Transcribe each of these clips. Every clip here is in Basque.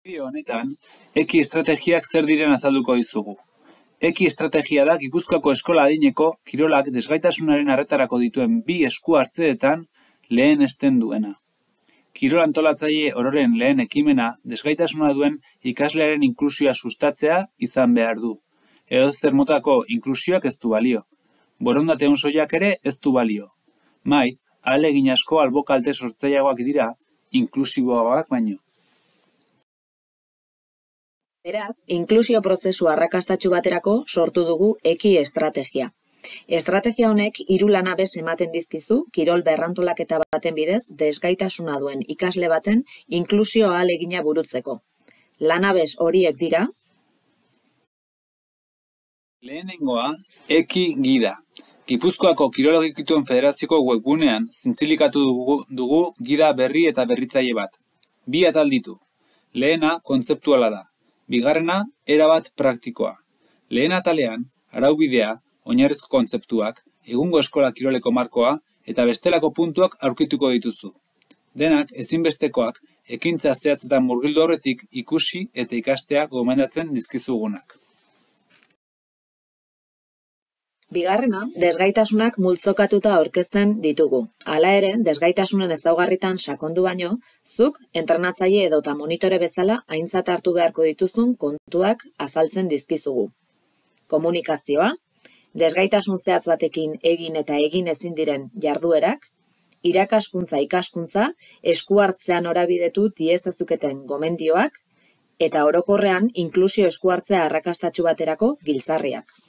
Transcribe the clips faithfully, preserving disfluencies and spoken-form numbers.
Bideo honetan, eki estrategiak zer diren azalduko dizugu. Eki estrategia da Gipuzkoako eskola adineko kirolak desgaitasunaren arretarako dituen bi esku hartzeetan lehenesten duena. Kirol antolatzaile ororen lehen ekimena desgaitasuna duen ikaslearen inklusioa sustatzea izan behar du. Edozer motako inklusioak ez du balio. Borondate on soilak ere ez du balio. Maiz, ahalegin asko albo kalte sortzaileagoak dira, inklusiboagoak baino. Beraz, inklusio prozesu arrakastatsu baterako sortu dugu eki estrategia. Estrategia honek hiru lanabes ematen dizkizu kirol berrantolaketa baten bidez desgaitasuna duen ikasle baten inklusio ahalegina burutzeko. Lanabes horiek dira: Lehenengoa, eki gida. Gipuzkoako Kirologikituen Federazioko webgunean zintzilikatu dugu, dugu gida berri eta berritzaile bat. Bi atal ditu. Lehena kontzeptuala da. Bigarrena, erabat praktikoa. Lehen atalean, araubidea, oinarrizko kontzeptuak, egungo eskola kiroleko markoa eta bestelako puntuak aurkituko dituzu. Denak ezinbestekoak ekintza zehatzetan murgildu aurretik ikusi eta ikastea gomendatzen dizkizugunak. Bigarrena, desgaitasunak multzokatuta aurkezten ditugu. Hala ere, desgaitasunen ezaugarritan sakondu baino, zuk entrenatzaile edota monitore bezala aintzat hartu beharko dituzun kontuak azaltzen dizkizugu. Komunikazioa, desgaitasun zehatz batekin egin eta egin ezin diren jarduerak, irakaskuntza ikaskuntza, esku hartzean norabidetu diezazuketen gomendioak, eta orokorrean inklusio esku hartzea arrakastatsu baterako giltzarriak.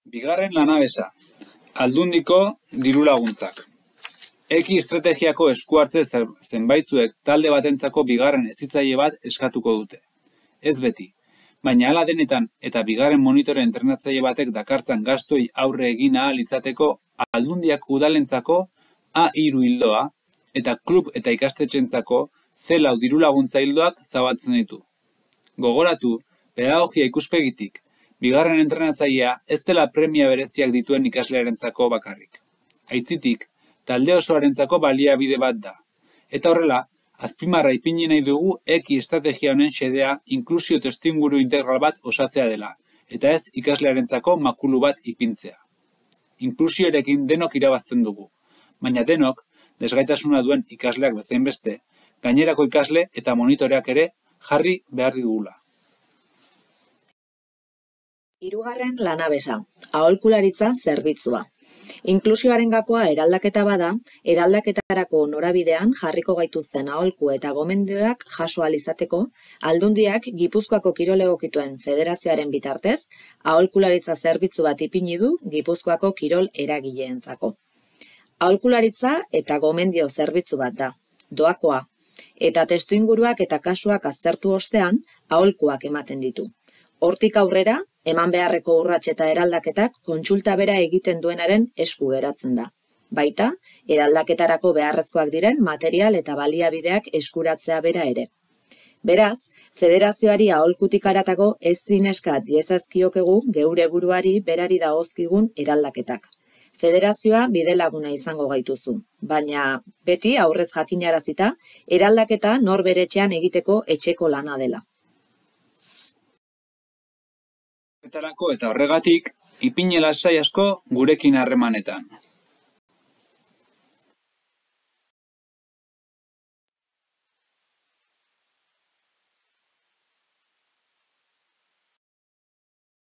Bigarren lanabesa, aldundiko dirulaguntzak. Eki estrategiako esku hartze zenbaitzuek talde batentzako bigarren hezitzaile bat eskatuko dute. Ez beti, baina hala denetan eta bigarren monitore entrenatzaile batek dakartzan gastoi aurre egin ahal izateko aldundiak udalentzako A hiru ildoa eta klub eta ikastetxentzako C lau dirulaguntza ildoak zabaltzen ditu. Gogoratu, pedagogia ikuspegitik, bigarren entrenatzailea ez dela premia bereziak dituen ikaslearentzako bakarrik. Aitzitik, talde osoarentzako baliabide bat da. Eta horrela, azpimarra ipini nahi dugu eki estrategia honen xedea inklusio testuinguru integral bat osatzea dela, eta ez ikaslearentzako makulu bat ipintzea. Inklusioarekin denok irabazten dugu, baina denok, desgaitasuna duen ikasleak bezain beste, gainerako ikasle eta monitoreak ere jarri behar dugula. Hirugarren lanabesa, aholkularitza zerbitzua. Inklusioaren gakoa eraldaketa bada, eraldaketarako norabidean jarriko gaituzten aholku eta gomendioak jaso ahal izateko, Aldundiak Gipuzkoako Kirol Egokituen Federazioaren bitartez, aholkularitza zerbitzu bat ipini du Gipuzkoako kirol eragileentzako. Aholkularitza eta gomendio zerbitzu bat da, doakoa, eta testuinguruak eta kasuak aztertu ostean, aholkuak ematen ditu. Hortik aurrera, eman beharreko urrats eta eraldaketak kontsulta bera egiten duenaren esku geratzen da. Baita, eraldaketarako beharrezkoak diren material eta baliabideak eskuratzea bera ere. Beraz, federazioari aholkutik haratako ez zineska diezazkiokegu geure buruari berari dagozkigun eraldaketak. Federazioa bidelaguna izango gaituzu, baina beti aurrez jakinarazita, eraldaketa nor bere etxean egiteko etxeko lana dela. Eta horregatik, ipini lasai asko gurekin harremanetan.